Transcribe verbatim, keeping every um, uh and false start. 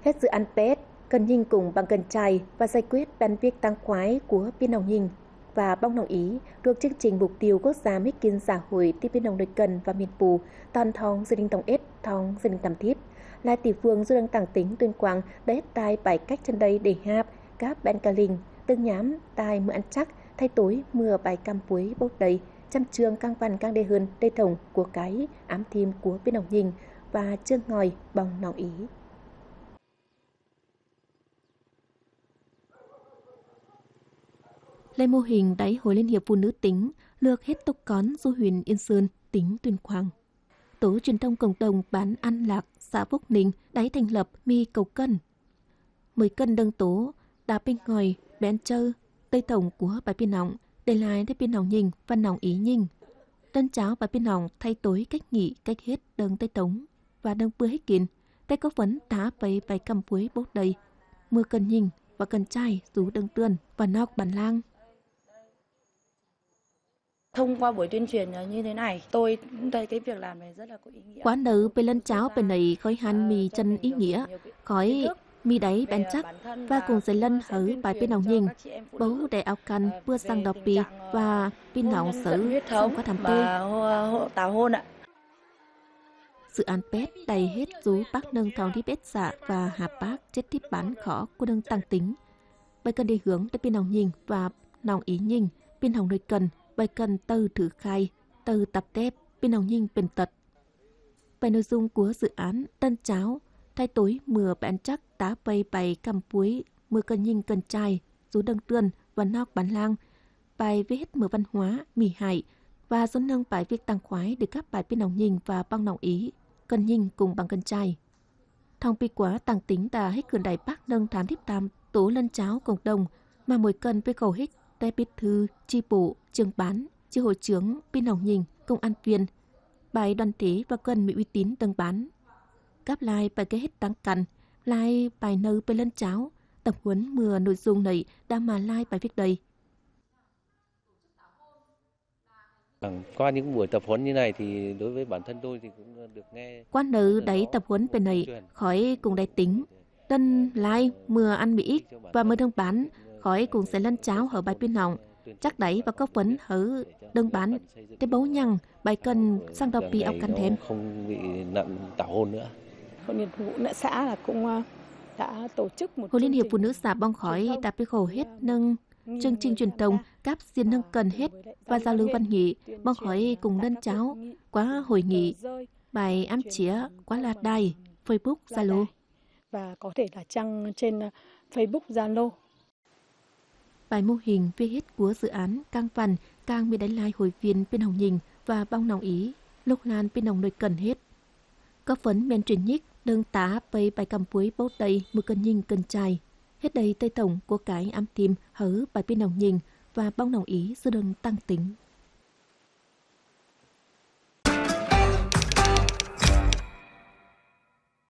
Hết dự án pet, cần nhing cũng bằng cần chai và giải quyết bản việc tang khoái của pin nọng nhing và bong nọng ý thuộc chương trình mục tiêu quốc gia mít kin xã hội ti pin nọng đôi cần và miền pù, toàn thong gia đình tổng ít, thong gia đình tầm thíp. Lai tỷ phương du đang tảng tỉnh Tuyên Quang đã hết tai bảy cách chân đây để hạp, cáp bên cà linh, tương nhám, tai mưa ăn chắc, thay tối mưa bài căm puối bốc đầy, trăm trường căng văn căng đê hơn, đê thông của cái, ám thim của pin nọng nhing và chương ngòi bong nọng ý. Lê mô hình đáy Hội Liên hiệp Phụ nữ tỉnh lược hết tộc con du huyện Yên Sơn, tỉnh Tuyên Quang. Tổ truyền thông cộng đồng bản An Lạc, xã Phúc Ninh đáy thành lập mì cầu cân. Mười cân đương tố, đa pêng ngòi, bén chơ, tơi tổng của bài pin nọng, để lại để pin nọng nhing, văn nọng ý nhing. Đơn cháo bài pin nọng thay tối cách nghỉ, cách hết đương tơi tổng và đương bưa hết kín. Tê có phấn tá pây pây căm puối bốc đầy, mưa cần nhing và cần chai, rú đương tươn và nóc bản lang. Thông qua buổi tuyên truyền như thế này, tôi cũng thấy cái việc làm này rất là có ý nghĩa. Quán nở pê lân cháo pê nầy khói hăn mì chân ý nghĩa, khói mì đáy bén chắc, và cũng sẽ lân hở bài pin nọng nhing, bấu đe ao căn, bưa sang đọc pì, và pin nọng sớ, xong có thăm tôi. Tào hôn ạ. Dự án pet đảy hết rú bác nâng thong đi bết xạ và hạp bác chết thíp bản khó của nâng tăng tính. Bài cần đi hướng tới pin nọng nhing và nọng ý nhing, pin hỏng đôi cần, bài cần từ thử khai, từ tập tép, pin nọng nhing pên tật. Bài nội dung của dự án, tân cháo, thay tối mưa bén chắc tá pây bài căm puối, mưa cần nhing cần chai, rú đâng tươn, và nóc bản lang, bài viết mưa văn hóa, mỉ hại, và dôn nâng bài việc tăng khoái được gắp bài pin nọng nhing và bong nọng ý, cần nhing cùng bằng cần chai. Thong pi quá tăng tính ta hích khửn đảy bác nâng tham thiếp tam tổ lân cháo cộng đồng, mà mỗi cần với khẩu hích, té bít thư, chi bộ, trưởng bản, chi hội trưởng, pin nọng nhing, công an viên. Bài đoàn thể và cần mì uy tín đâng bản. Cắp lai bài cái hết tăng căn, lai bài nơ pê lân cháo, tập huấn mưa nội dung này đã mà lai bài việc đây. Qua những buổi tập huấn như này thì đối với bản thân tôi thì cũng được nghe. Quán nở đáy tập huấn bên này, khỏi cũng đáy tính. Tân lai mưa ăn mì ít và mưa đương bản, khỏi cũng sẽ lăn cháo hở bài pin hỏng. Chắc đáy và có phấn hở đương bản. Tế bấu nhằng, bài cần sang đọc pi ọc căn thêm. Không bị nạn tảo hôn nữa. Hội Liên hiệp Phụ nữ xã là cũng, ờ, đã tổ chức một Hội Liên hiệp Phụ nữ xã bong khỏi đã bị khổ hết nâng chương trình truyền thông cắp xiên nâng cần hết và giao lưu văn nghệ, bong khỏi cùng lân cháo qua hội nghị, bài ám chía qua lạt đài, Facebook, Zalo. Và có thể là đăng trên, ờ, Facebook, Zalo. Bài mô hình viết hết của dự án cang văn cang mì đánh lai hội viên pin hỏng nhing và bong nọng ý, lục lan pin nọng nội cần hết. Có phấn men truyền nhích, đương tá pây bài căm puối bố tây mưa cần nhing cần chai. Hết đây tây tổng của cái ám tim hở bài pin nọng nhing và bong nọng ý sư đương tăng tính.